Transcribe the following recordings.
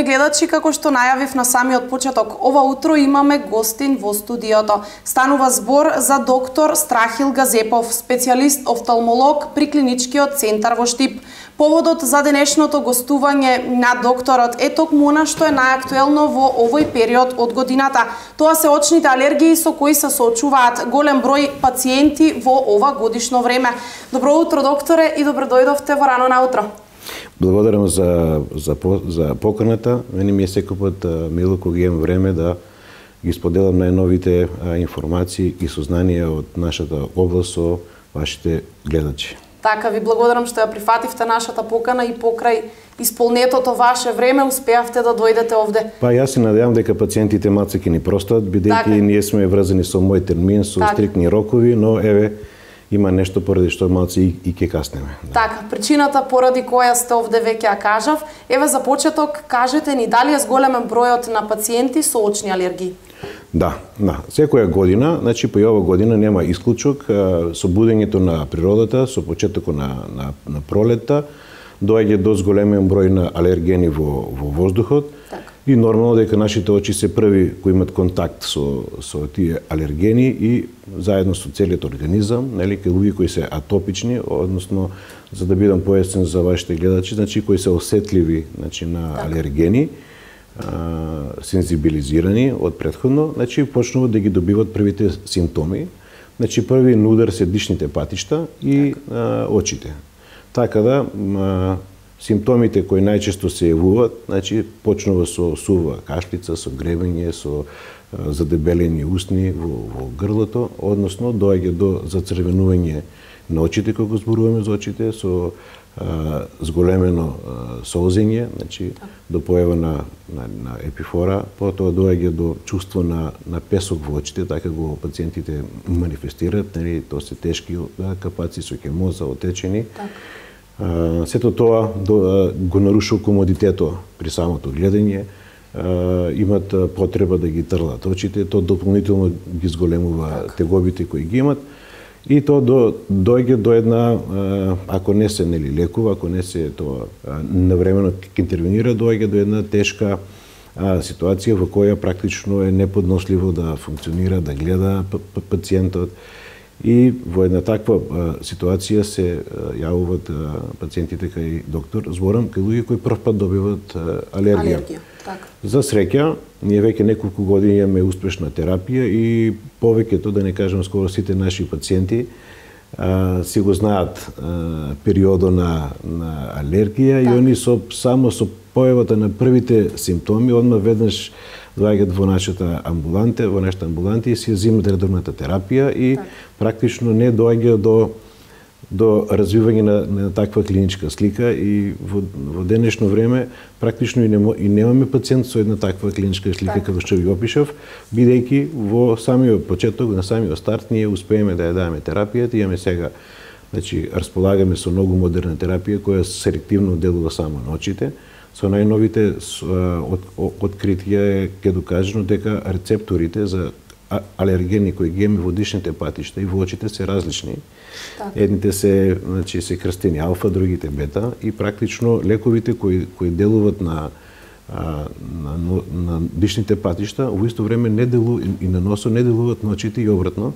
гледачи, како што најавив на самиот почеток, ова утро имаме гостин во студиото. Станува збор за доктор Страхил Газепов, специјалист офталмолог при клиничкиот центар во Штип. Поводот за денешното гостување на докторот е токму она што е најактуелно во овој период од годината. Тоа се очните алергии со кои се соочуваат голем број пациенти во ова годишно време. Добро утро, докторе, и добро дојдовте во рано наутро. Благодарам за поканата. Мене ми е секој пат мило кога имам време да ги споделам најновите информации и сознанија од нашата област со вашите гледачи. Така, ви благодарам што ја прифативте нашата покана и покрај исполнетото ваше време успеавте да дојдете овде. Па јас се надевам дека пациентите малце ќе ни простат, бидејќи ние сме врзани со мој термин, со стриктни рокови, но еве има нешто поради што малце и ќе каснеме. Така, причината поради која сте овде веќе ја кажав. Еве за почеток кажете ни дали е зголемен бројот на пациенти со очни алергии? Да. Секоја година, значи по ова година нема исклучок, со будењето на природата, со почетокот на пролетта, доаѓа до зголемен број на алергени во воздухот. Так. И нормално дека нашите очи се први кои имат контакт со тие алергени и заедно со целиот организам, нели, кај луѓе кои се атопични, односно за да бидам појасен за вашите гледачи, значи кои се осетливи, значи на алергени, сензибилизирани од претходно, значи почнуваат да ги добиват првите симптоми. Значи први на удар се дишните патишта и очите. Така да симптомите кои најчесто се јавуваат, значи почнува со сува кашлица, со гребење, со задебелени устни во грлото, односно доаѓа до зацрвенување на очите кога зборуваме за очите, со зголемено солзење, значи до појава на епифора, потоа доаѓа до чувство на песок во очите, така го пациентите манифестираат, нели, тоа се тешки капаци со хемоза, отечени. Сето тоа го нарушува комодитето при самото гледање, имат потреба да ги трлат очите, тоа дополнително ги зголемува тегобите кои ги имат. И тоа доаѓа до една, ако не се нели лекува, ако не се тоа навремено ќе интервенира, доаѓа до една тешка ситуација во која практично е неподносливо да функционира, да гледа пациентот. И во една таква ситуација се јавуваат пациентите кај доктор, зборам кај луѓе кои прв пат добиваат алергија. За среќа, ние веќе неколку години имаме успешна терапија и повеќето, да не кажам скоро сите наши пациенти, си го знаат периодот на алергија и они само со појавата на првите симптоми одма веднаш доаѓаат во нашата амбуланта и си земат редовната терапија и практично не доаѓа до развивање на таква клиничка слика и во денешно време практично и немаме пациент со една таква клиничка слика како што ви опишав, бидејќи во самиот почеток, на самиот старт ние успееме да ја дадеме терапијата, имаме сега, значи располагаме со многу модерна терапија која селективно делува само на очите. Со најновите откритија е ќе докажано дека рецепторите за алергени кои ги имаме во дишните патишта и во очите се различни. Едните се, значи, се крстени алфа, другите бета и практично лековите кои делуват на дишните патишта во исто време не делуваат и на носот, не делуваат на очите и обратно.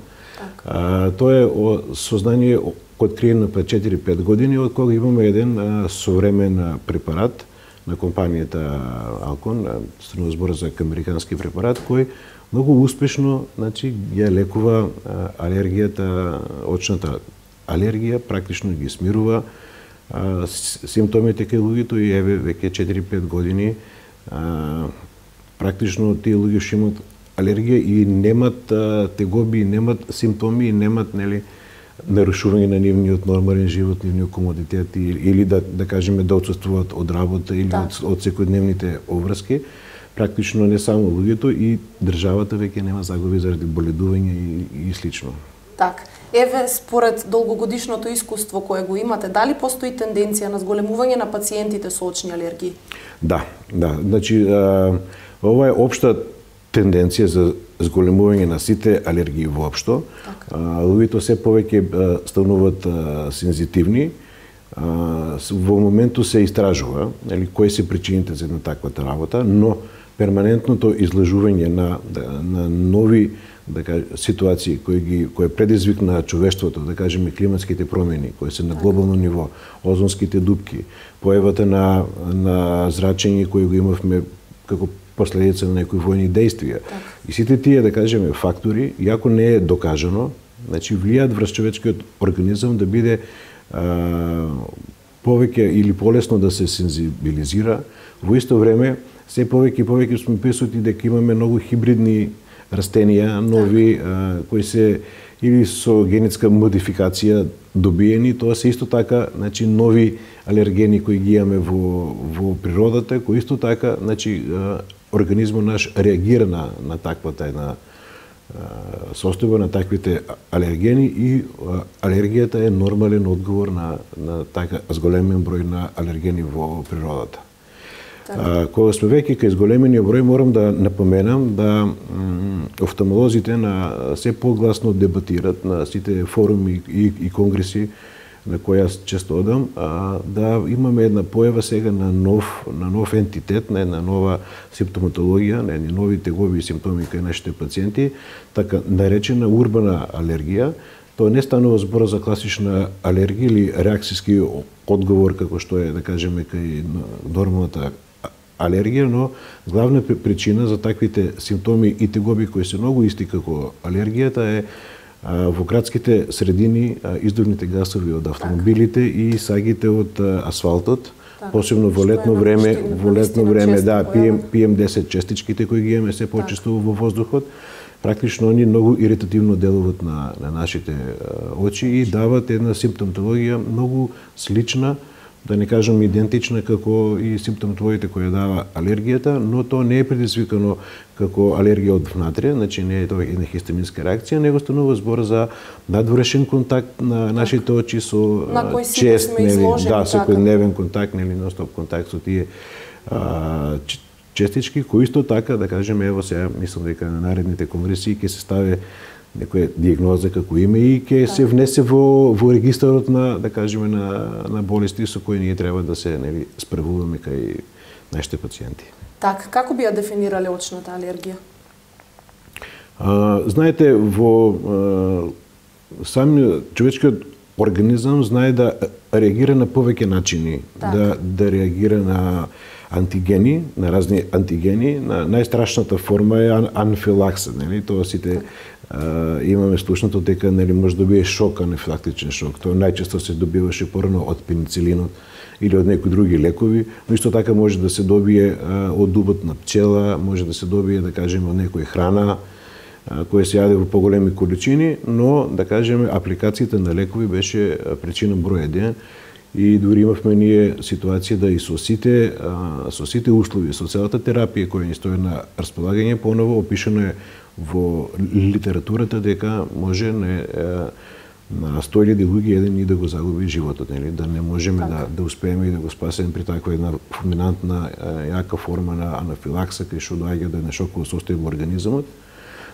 Тоа е сознание откриено пред 4-5 години од кога имаме еден современ препарат на компанијата Алкон, станува збор за американски препарат кој многу успешно, значи, ја лекува алергијата, очната алергија, практично ги смирува симптомите кај луѓето и еве веќе 4-5 години практично тие луѓе што имат алергија и немат тегоби, немат симптоми и немат, нели, нарушување на нивниот нормален живот, нивниот комодитет или да кажеме да отсуствуваат од работа или од секојдневните обврски. Практично не само луѓето и државата веќе нема загуби заради боледување и слично. Так, еве според долгогодишното искуство кое го имате, дали постои тенденција на зголемување на пациентите со очни алергии? Да. Значи ова е општа тенденција за зголемување на сите алергии воопшто. Луѓето се повеќе стануваат сензитивни, во моменту се истражува, нели, кои се причините за една таквата работа, но перманентното излажување на нови ситуации кои предизвикна човештвото, да кажеме климатските промени, кои се на глобално ниво, озонските дупки, појавата на зрачење кои го имавме како последица на некои војни действија. И сите тие, да кажеме, фактори, иако не е докажано, значи влијаат врз човечкиот организам да биде повеќе или полесно да се сензибилизира. Во исто време, се повеќе и повеќе сме присутни дека имаме многу хибридни растенија, нови, кои се или со генетска модификација добиени, тоа се исто така, значи, нови алергени кои ги имаме во природата, кои исто така, значи, организмот наш реагира на таквата една состојба, на таквите алергени, и алергијата е нормален одговор на така зголемен број на алергени во природата. Кога сме веќе кај зголемениот број, морам да напоменам да офталмолозите се погласно дебатират на сите форуми и конгреси на кои јас често одам, да имаме една појава сега на нов ентитет, на една нова симптоматологија, на едни нови тегови симптоми кај нашите пациенти, така наречена урбана алергија. Тоа не станува збор за класична алергија или реакцијски одговор, како што е, да кажеме, кај нормалната алергија, но главна причина за таквите симптоми и тегоби кои се многу исти како алергијата е во градските средини издувните гасови од автомобилите и сагите од асфалтот, посебно во летно време, PM10 честичките кои ги имаме се почесто во воздухот, практично они многу иритативно делуваат на нашите очи и дават една симптоматологија многу слична, да не кажам идентична како и симптоматологиите кои дава алергијата, но тоа не е предизвикано како алергија од внатре, значи не е тоа една хистаминска реакција, него станува збор за надворешен контакт на нашите очи со чест, секојдневен контакт, нели ностоп контакт со тие честички, кои исто така, да кажеме, ево сега, мислам дека на наредните конгреси ќе се стави некоја диагноза како име и ќе се внесе во регистарот на, да кажеме, на болести со кои ние треба да се, нели, справуваме кај нашите пациенти. Така, како би ја дефинирале очната алергија? Знаете, во самиот човечкиот организам знае да реагира на повеќе начини, да реагира на антигени, на разни антигени. Најстрашната форма е анафилакса, нели? Тоа сите имаме слушнато дека, нели, може да добие шок, анафилактичен шок. Тоа најчесто се добиваше порано од пеницилинот или од некои други лекови, но исто така може да се добие од дубот на пчела, може да се добие, да кажеме, од некоја храна која се јаде во поголеми количини, но, да кажеме, апликацијата на лекови беше причина број 1. И дури имавме ние ситуација да и со сите услови, со целата терапија која ни стои на располагање, поново опишано е во литературата дека може на 100.000 луѓе еден и да го загуби животот, нели, да не можеме да успееме и да го спасеме при таква една фулминантна јака форма на анафилакса кај што доаѓа до една шоково состојба во организмот.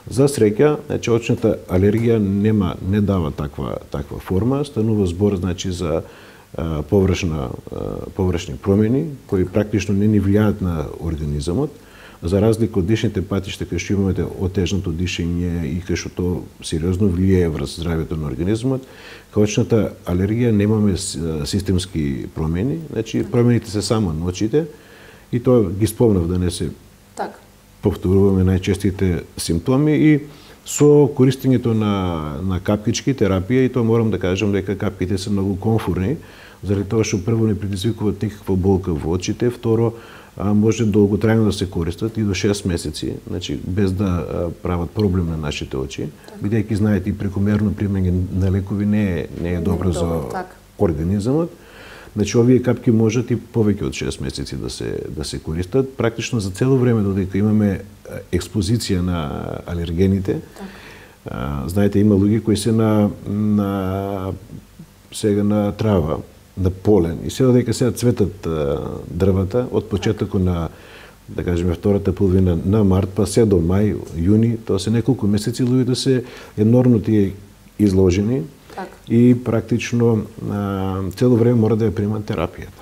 За среќа, значи, очната алергија не дава таква форма, станува збор, значи, за површни промени кои практично не ни влијаат на организмот, за разлика од дишните патишта кај што имате отежнато дишење и кај што тоа сериозно влијае врз здравјето на организмот. Кај очната алергија немаме системски промени, значи промените се само на очите и тоа ги спомнав да не се повторуваме најчестите симптоми и со користењето на капкички терапија, и тоа морам да кажам дека капките се многу комфорни, заради тоа што прво не предизвикуваат никаква болка во очите, второ може долготрајно да се користат и до 6 месеци, значи без да прават проблем на нашите очи, бидејќи знаете и прекомерно примање на лекови не е добро за организмот. Значи овие капки можат и повеќе од 6 месеци да се користат, практично за цело време додека имаме експозиција на алергените. Знаете, има луѓе кои се сега на трава, на полен, и се додека сега цветат дрвата од почетокот на, да кажеме, втората половина на март па се до мај, јуни, тоа се неколку месеци луѓето се енормно тие изложени. и практично цело време мора да ја примат терапијата.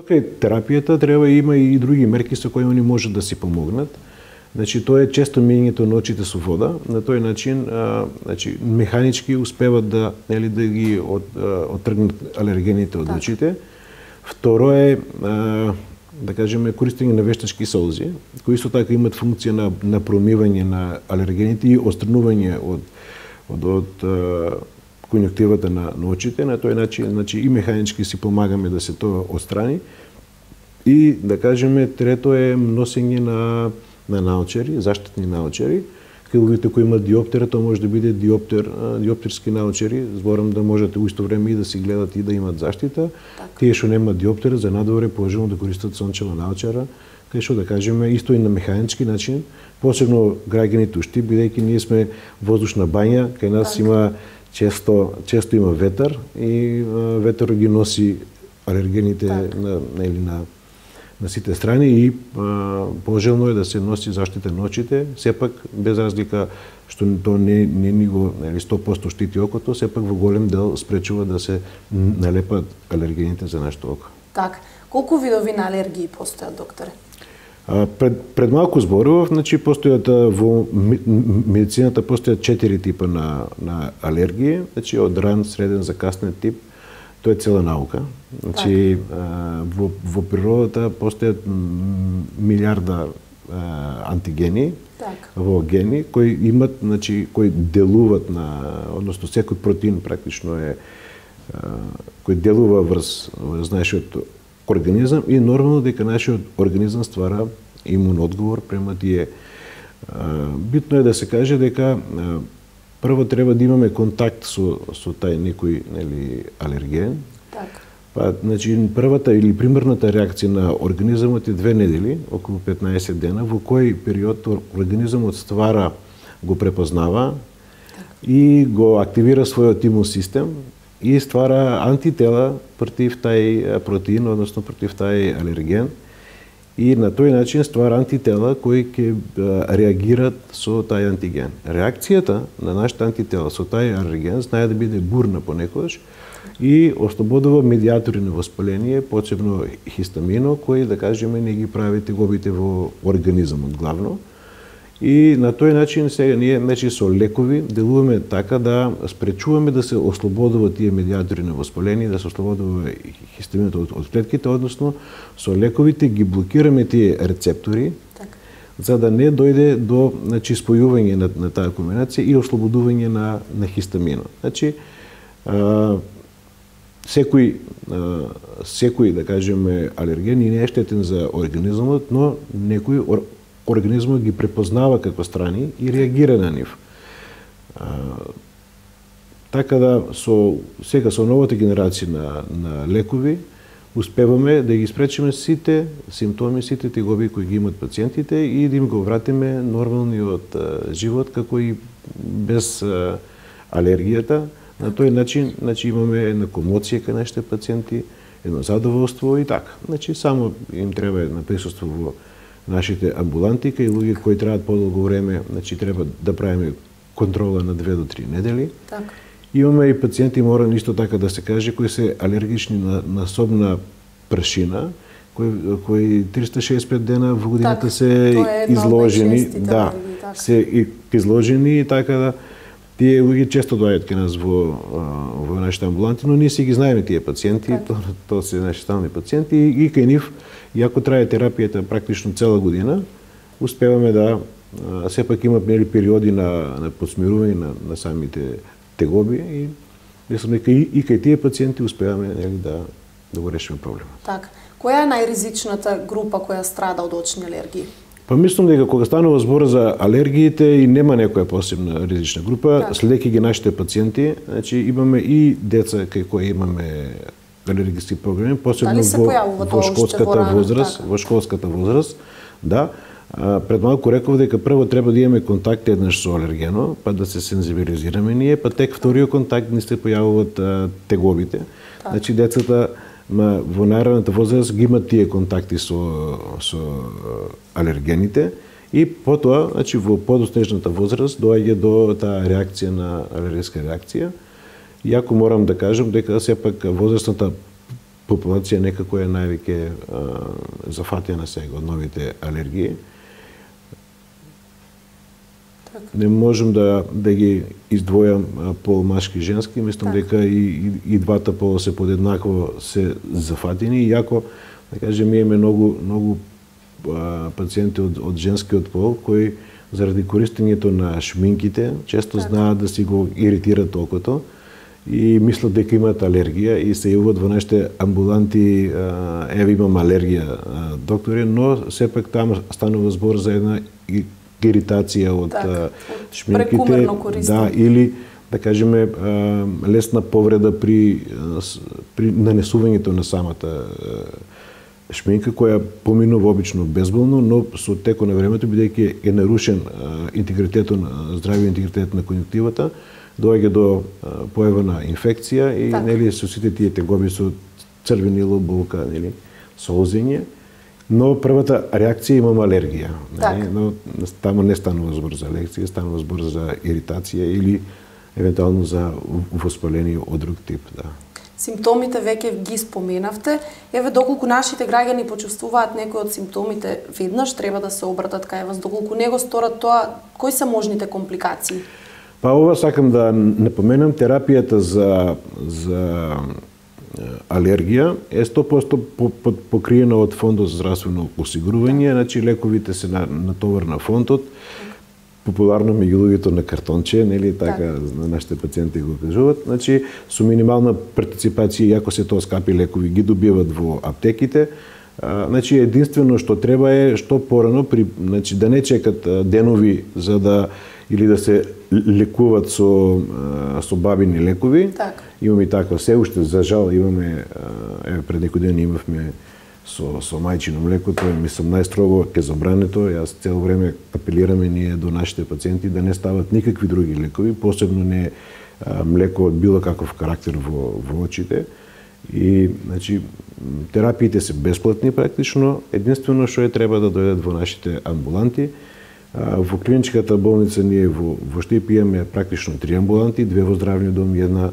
Кај терапијата треба има и други мерки со кои они можат да си помогнат. Значи тоа е често мијањето на очите со вода, на тој начин значи механички успеват да да ги оттргнат алергените од очите. Второ е да кажеме користење на вештачки солзи, кои исто така имат функција на промивање на алергените и отстранување од конјуктивата на очите. На тој начин значи и механички си помагаме да се тоа отстрани. И да кажеме трето е носење на наочари, заштитни наочари. Кај луѓето кои имаат диоптера, тоа може да биде диоптерски наочари, зборам да можете у исто време и да си гледат и да имат заштита. Тие што немаат диоптера, за надвор е положено да користат сончева наочара, кај што да кажеме исто и на механички начин, посебно граѓаните у Штип, бидејќи ние сме воздушна бања, кај нас има често има ветар и ветерот ги носи алергените на сите страни и пожелно е да се носи заштита на очите, сепак без разлика што тоа не ни го 100% штити окото, сепак во голем дел спречува да се налепат алергените за нашето око. Така. Колку видови на алергии постојат, докторе? Пред малку зборував, значи постојат во медицината постојат 4 типа на алергии, значи од ран, среден, закаснет тип. Тоа е цела наука. Значи во природата постојат милиарда антигени, во гени кои имат, значи кои делуваат односно секој протеин практично е кој делува врз нашиот организам и нормално дека нашиот организам ствара имун одговор према тие. Битно е да се каже дека прво треба да имаме контакт со тај некој алерген. Па значи првата или примерната реакција на организмот е 2 недели, околу 15 дена, во кој период организмот ствара, го препознава и го активира својот имун систем и ствара антитела против тај протеин, односно против тај алерген. И на тој начин ствара антитела кои ќе реагират со тај антиген. Реакцијата на нашите антитела со тај алерген знае да биде бурна понекогаш и ослободува медиатори на воспаление, посебно хистамино, кои да кажеме не ги прави тегобите во организмот главно. И на тој начин сега ние значи со лекови делуваме така да спречуваме да се ослободуваат тие медиатори на воспаление, да се ослободува хистаминото од клетките, односно со лековите ги блокираме тие рецептори, за да не дојде до значи спојување на таа комбинација и ослободување на хистамино. Значи секој да кажеме алерген не е штетен за организмот, но некој организмот ги препознава како страни и реагира на нив. Така да сега со новата генерација на лекови успеваме да ги спречиме сите симптоми, сите тегоби кои ги имат пациентите и да им го вратиме нормалниот живот како и без алергијата. На тој начин имаме една комоција кај нашите пациенти, едно задоволство и така. Значи само им треба на присуство во нашите амбуланти, кај луѓе кои требаат подолго време, значи треба да правиме контрола на 2 до 3 недели. Така. Имаме и пациенти, мора исто така да се каже, кои се алергични на собна прашина, кои 365 дена во годината се изложени, се изложени и така да тие луѓе често доаѓаат кај нас во нашите амбуланти, но ние си ги знаеме тие пациенти, тоа се наши стални пациенти и кај нив, иако трае терапијата практично цела година, успеваме да сепак имат периоди на подсмирување на самите тегоби и мислам дека и кај тие пациенти успеваме да го решиме проблемот. Така. Која е најризичната група која страда од очни алергии? Па мислам дека кога станува збор за алергиите и нема некоја посебна ризична група, следејќи ги нашите пациенти, значи имаме и деца кај кои имаме алергиски проблеми, посебно во школската возраст, да. Пред малку реков дека прво треба да имаме контакт еднаш со алергено, па да се сензибилизираме ние, па тек вториот контакт ни се појавуваат тегобите. Значи децата во најраната возраст ги имат тие контакти со алергените и потоа, значи во подоснежната возраст доаѓа до таа реакција на алергиска реакција Иако морам да кажам дека сепак возрастната популација некако е највеќе зафатена сега од новите алергии. Не можам да ги издвојам пол машки и женски, мислам дека и двата пола се подеднакво се зафатени, иако да кажем имаме многу пациенти од женскиот пол кои заради користењето на шминките често знаат да си го иритират окото и мислат дека имаат алергија и се јавуваат во нашите амбуланти, еве имам алергија, доктори, но сепак таму станува збор за една иритација од шминките, или да кажеме лесна повреда при нанесувањето на самата шминка, која поминува обично безболно, но со текот на времето, бидејќи е нарушен интегритетот, здравиот интегритет на конјуктивата, доаѓа до појава на инфекција и нели со сите тие тегоби со црвенило, болка, нели, солзење, но првата реакција имам алергија, нели, но таму не станува збор за алергија, станува збор за иритација или евентуално за воспаление од друг тип, Симптомите веќе ги споменавте. Еве, доколку нашите граѓани почувствуваат некои од симптомите веднаш, треба да се обратат кај вас. Доколку не го сторат тоа, кои се можните компликации? Па ова сакам да напоменам, терапијата за алергија е 100% покриена од Фондот за здравствено осигурување, значи лековите се на товар на фондот. Популарно меѓу луѓето на картонче, нели така на нашите пациенти го кажуваат, значи со минимална партиципација, иако се тоа скапи лекови, ги добиваат во аптеките. Значи единствено што треба е што порано значи да не чекат денови за да или да се лекуваат со бабини лекови. Имаме и таква се уште, за жал имаме, еве пред некој ден имавме со мајчино млеко, тоа мислам најстрого ќе забрането. Јас цело време апелираме ние до нашите пациенти да не стават никакви други лекови, посебно не млеко од било каков карактер во очите. И значи терапиите се бесплатни практично, единствено што треба да дојдат во нашите амбуланти. Во клиничката болница ние во Штип имаме практично 3 амбуланти, 2 во здравниот дом, една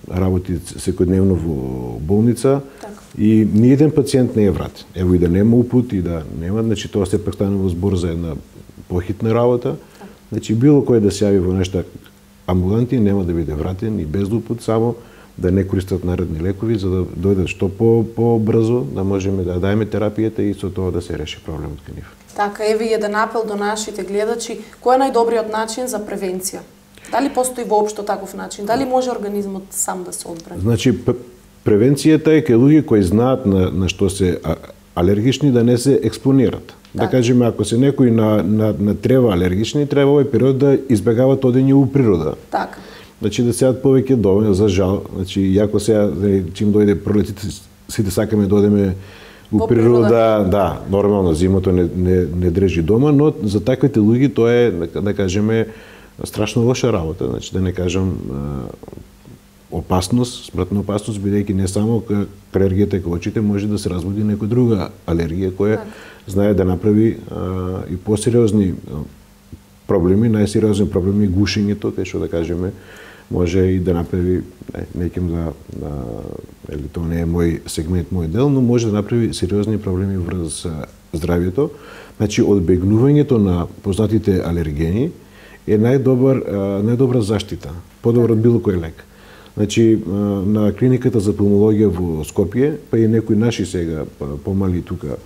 работи секојдневно во болница. И ни еден пациент не е вратен. Ево и да нема упут и да нема, значи тоа сепак станува збор за една похитна работа. Значи било кој да се јави во нашите амбуланти нема да биде вратен и без упут, само да не користат наредни лекови за да дојдат што побрзо да можеме да даеме терапијата и со тоа да се реши проблемот кај нив. Така, еве еден апел до нашите гледачи, кој е најдобриот начин за превенција? Дали постои воопшто таков начин? Дали може организмот сам да се одбрани? Значи превенцијата е кај луѓе кои знаат на што се алергични да не се експонират. Да кажеме, ако се некои на трева алергични, треба овој период да избегават одење у природа. Така. Значи да седат повеќе дома, за жал. Значи, иако сега, чим дојде пролетите, сите сакаме да одеме у природа, да, нормално, зимото не држи дома, но за таквите луѓе тоа е, да кажеме, страшно лоша работа. Значи, да не кажам опасност, смртна опасност, бидејќи не само алергијата кај очите може да се разбуди некоја друга алергија која знае да направи и посериозни проблеми, најсериозни проблеми гушењето, кај што да кажеме може и да направи, неќем или тоа не е мој сегмент, мој дел, но може да направи сериозни проблеми врз здравјето. Значи, одбегнувањето на познатите алергени е најдобра заштита, подобро од било кој лек. Значи, на клиниката за пулмологија во Скопје, па и некои наши сега помали тука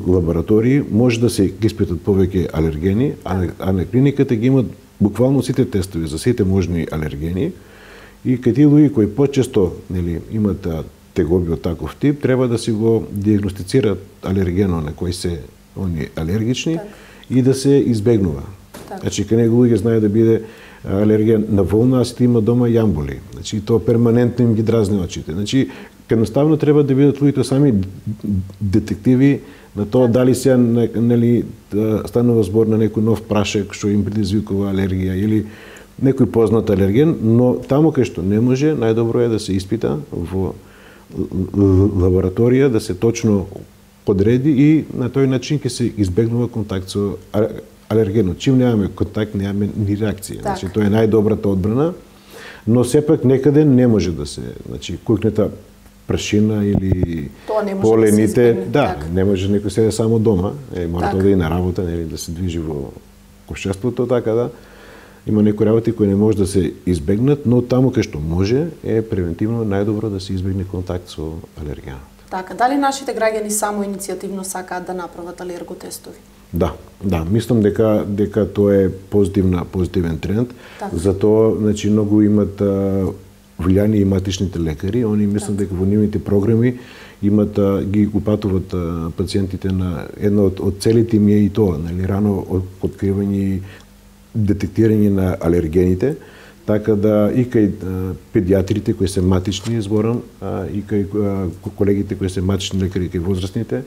лаборатории, може да се испитат повеќе алергени, а на клиниката ги имат буквално сите тестови за сите можни алергени и кај тие луѓе кои почесто имат тегоби од таков тип, треба да си го диагностицираат алергено на кои се они алергични и да се избегнува. Значи, кај него луѓе знае да биде алергија на волна, а сите има дома јамболи. Значи, тоа перманентно им ги дразни очите. Значи, едноставно треба да бидат луѓето сами детективи на тоа дали сега станува збор на некој нов прашек што им предизвикува алергија или некој познат алерген, но таму кај што не може, најдобро е да се испита во лабораторија, да се точно одреди и на тој начин ќе се избегнува контакт со алергенот. Чим немаме контакт, немаме ни реакција. Значи тоа е најдобрата одбрана, но сепак некаде не може да се, значи кукнета прашина или полените, не може некој седе само дома, мора да и на работа, нели да се движи во општеството, така да има некои работи кои не може да се избегнат, но таму кај што може е превентивно најдобро да се избегне контакт со алергенот. Така, дали нашите граѓани само иницијативно сакаат да направат алерготестови? Да, мислам дека тоа е позитивен тренд. Затоа, значи, многу имат влијание и матичните лекари. Они мислам дека во нивните програми имат ги упатуват пациентите на една од целите им е и тоа, нели, рано откривање и детектирање на алергените, така да и кај педиатрите кои се матични, зборам, и кај колегите кои се матични лекари кај возрастните,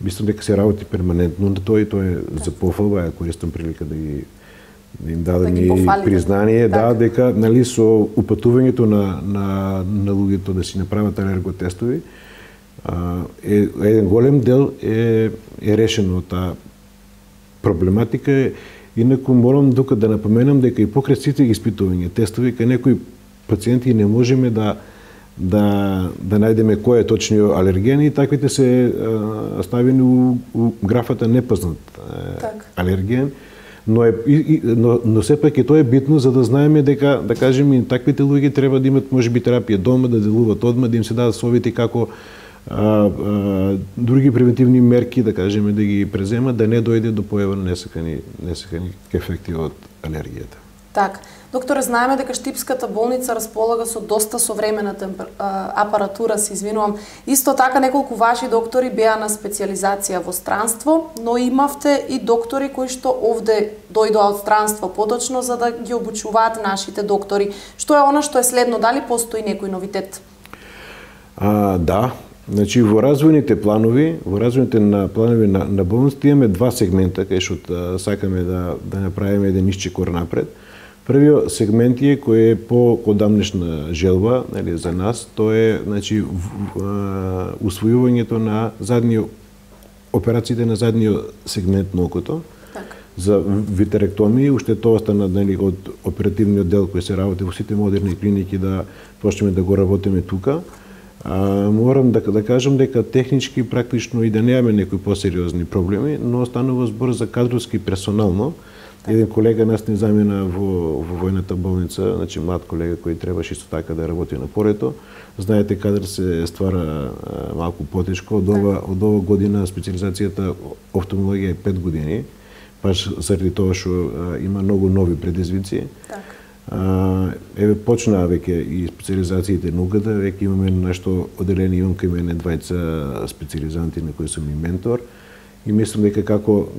мислам дека се работи перманентно на тоа и тоа е за пофалба, ја користам прилика да им дадам и признание, дека нели со упатувањето на луѓето да си направат алерготестови, еден голем дел е решено од таа проблематика. Инаку морам тука да напоменам дека и покрај сите испитувања, тестови, кај некои пациенти не можеме да најдеме кој е точниот алерген и таквите се ставени у графата непознат алерген, но сепак и тоа е битно за да знаеме дека, да кажеме, таквите луѓе треба да имат можеби терапија дома, да делуваат одма, да им се дадат совети како други превентивни мерки, да кажеме, да ги преземат, да не дојде до појава на несакани ефекти од алергијата. Така. Докторе, знаеме дека Штипската болница располага со доста современа апаратура, се извинувам. Исто така неколку ваши доктори беа на специализација во странство, но имавте и доктори кои што овде дојдоа од странство поточно за да ги обучуваат нашите доктори. Што е она што е следно? Дали постои некој новитет? Да. Значи, во развојните планови на болниците имаме два сегмента кај што сакаме да направиме еден исчекор напред. Првиот сегмент е кој е по одамнешна желба, нели, за нас, тоа е, значи, усвојувањето на операциите на задниот сегмент на окото. За витеректомија, уште тоа стана, нели, од оперативниот дел кој се работи во сите модерни клиники да почнеме да го работиме тука. Морам да кажам дека технички практично и да немаме некои посериозни проблеми, но станува збор за кадровски персонално. Еден колега нас не замена во војната болница, значи млад колега кој требаше исто така да работи на порето. Знаете, кадар се ствара малку потешко. Од ова година специализацијата офталмологија е 5 години, баш заради тоа што има многу нови предизвици. Еве почнаа веќе и специализациите на УГД, веќе имаме нешто оделение, имам кај мене двајца специализанти на кои сум и ментор. И мислам дека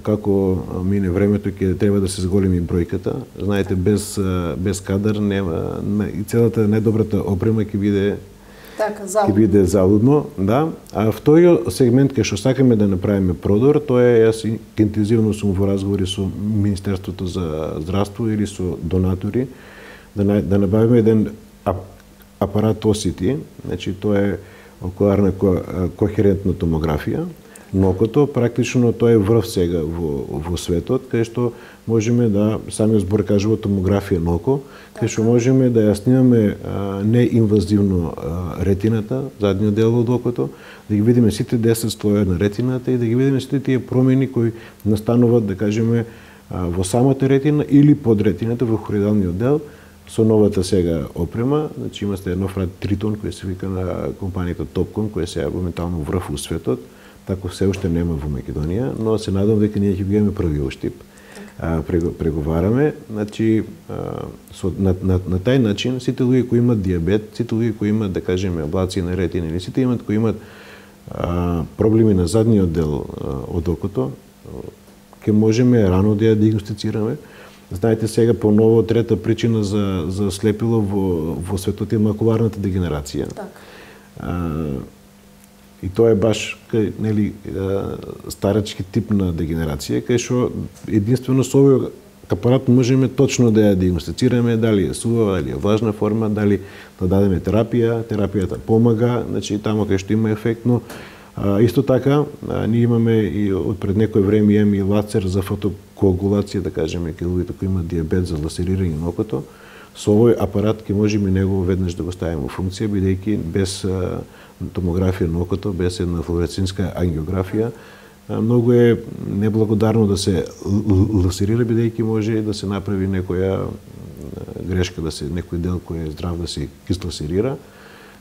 како мине времето ќе треба да се зголеми бројката. Знаете, без кадар нема и целата најдобрата опрема ќе биде залудно, да. А вториот сегмент кај што сакаме да направиме продор, тоа е, јас интензивно сум во разговори со Министерството за здравство или со донатори да набавиме еден апарат OCT, значи тоа е окуларна кохерентна томографија на окото. Практично тоа е врв сега во светот, кај што можеме да, самиот збор кажува томографија на око, кај што можеме да ја снимаме неинвазивно ретината, задниот дел од окото, да ги видиме сите 10 слоја на ретината и да ги видиме сите тие промени кои настануваат, да кажеме, во самата ретина или под ретината во хороидалниот дел со новата сега опрема. Значи има нов рад Тритон кој се вика на компанијата Topcon, која се моментално врв у светот. Тако се уште нема во Македонија, но се надам дека ние ќе бидеме првиот Штип. Преговараме, значи на тај начин сите луѓе кои имат диабет, сите луѓе кои имат, да кажеме, аблации на ретина или сите кои имат проблеми на задниот дел од окото, ќе можеме рано да ја диагностицираме. Знаете, сега по ново трета причина за слепило во светот е макуларната дегенерација. И тоа е баш нели старачки тип на дегенерација, кај што единствено со овој апарат можеме точно да ја диагностицираме дали е сувава, дали е влажна форма, дали да дадеме терапијата помага, значи таму кај што има ефект, но исто така ние имаме и од пред некој време имаме и лазер за коагулација, да кажеме, кај луѓето кои имаат диабет за ласерирање на окото, со овој апарат ќе можеме него веднаш да го ставиме во функција, бидејќи без томографија на окото, без една флуоресцентска ангиографија, многу е неблагодарно да се ласерира, бидејќи може да се направи некоја грешка, да се некој дел кој е здрав да се кисласерира.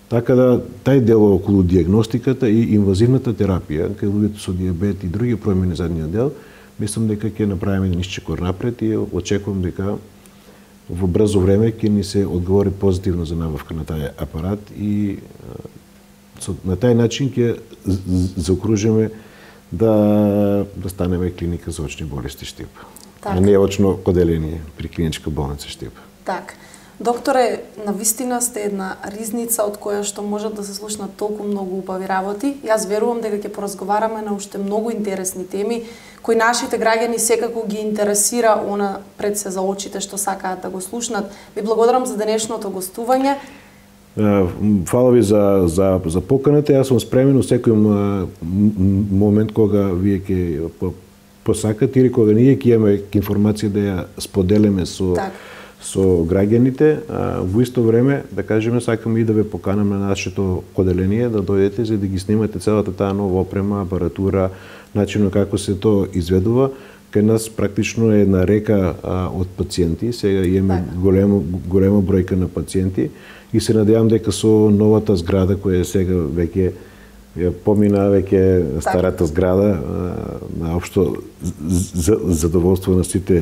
Така да, тај дел околу диагностиката и инвазивната терапија, кај луѓето со диабет и други промени задниот дел, мислам дека ќе направиме еден исчекор напред и очекувам дека во брзо време ќе ни се одговори позитивно за набавка на тај апарат и на тај начин ќе заокружиме да станеме клиника за очни болести Штип. А не очно оделение при клиничка болница Штип. Так. Докторе, навистина сте една ризница од која што можат да се слушнат толку многу убави работи. Јас верувам дека ќе поразговараме на уште многу интересни теми кои нашите граѓани секако ги интересира она пред се за очите што сакаат да го слушнат. Ви благодарам за денешното гостување. Фала ви за поканата. Јас сум спремен во секој момент кога вие ќе посакате или кога ние ќе имаме информација да ја споделиме со граѓаните. Во исто време, да кажеме, сакаме и да ве поканаме на нашето оделение да дојдете за да ги снимате целата таа нова опрема, апаратура, начинот како се тоа изведува. Кај нас практично е една река од пациенти. Сега имаме голема бројка на пациенти и се надевам дека со новата зграда која сега веќе помина веќе старата зграда, на општо задоволство на сите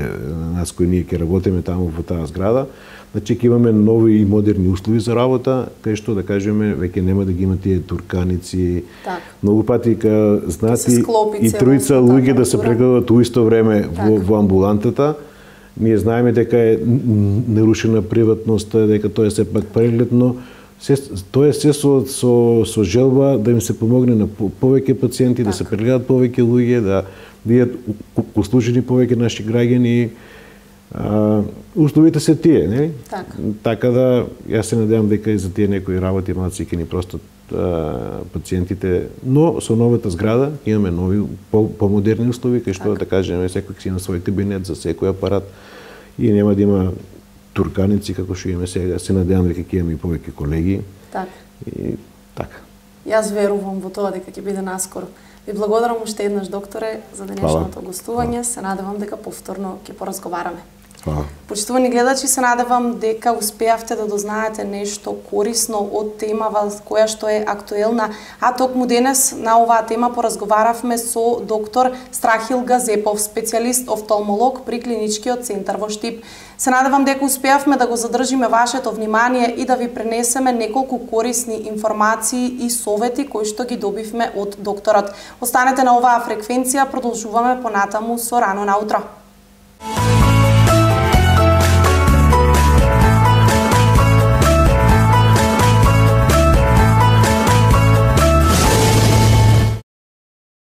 нас кои ние ќе работиме таму во таа зграда, значи ќе имаме нови и модерни услови за работа, кај што да кажеме веќе нема да ги има тие турканици. Многу пати знаат и тројца луѓе да се прегледат во исто време во амбулантата. Ние знаеме дека е нарушена приватноста, дека тоа е сепак преглед, но тоа е се со желба да им се помогне на повеќе пациенти, да се прегледат повеќе луѓе, да бидат услужени повеќе наши граѓани. Условите се тие, нели? Така да, јас се надевам дека и за тие некои работи малци ќе ни простат пациентите, но со новата зграда имаме нови помодерни услови, кај што да кажеме секој си на свој кабинет за секој апарат и нема да има турканици како што имаме сега. Се надевам дека ќе имаме и повеќе колеги. И така. Јас верувам во тоа дека ќе биде наскоро. Ви благодарам уште еднаш, докторе, за денешното гостување. Се надевам дека повторно ќе поразговараме. Почитувани гледачи, се надевам дека успеавте да дознаете нешто корисно од темава која што е актуелна, а токму денес на оваа тема поразговаравме со доктор Страхил Газепов, специјалист офталмолог при клиничкиот центар во Штип. Се надевам дека успеавме да го задржиме вашето внимание и да ви пренесеме неколку корисни информации и совети кои што ги добивме од докторот. Останете на оваа фреквенција, продолжуваме понатаму со Рано наутро.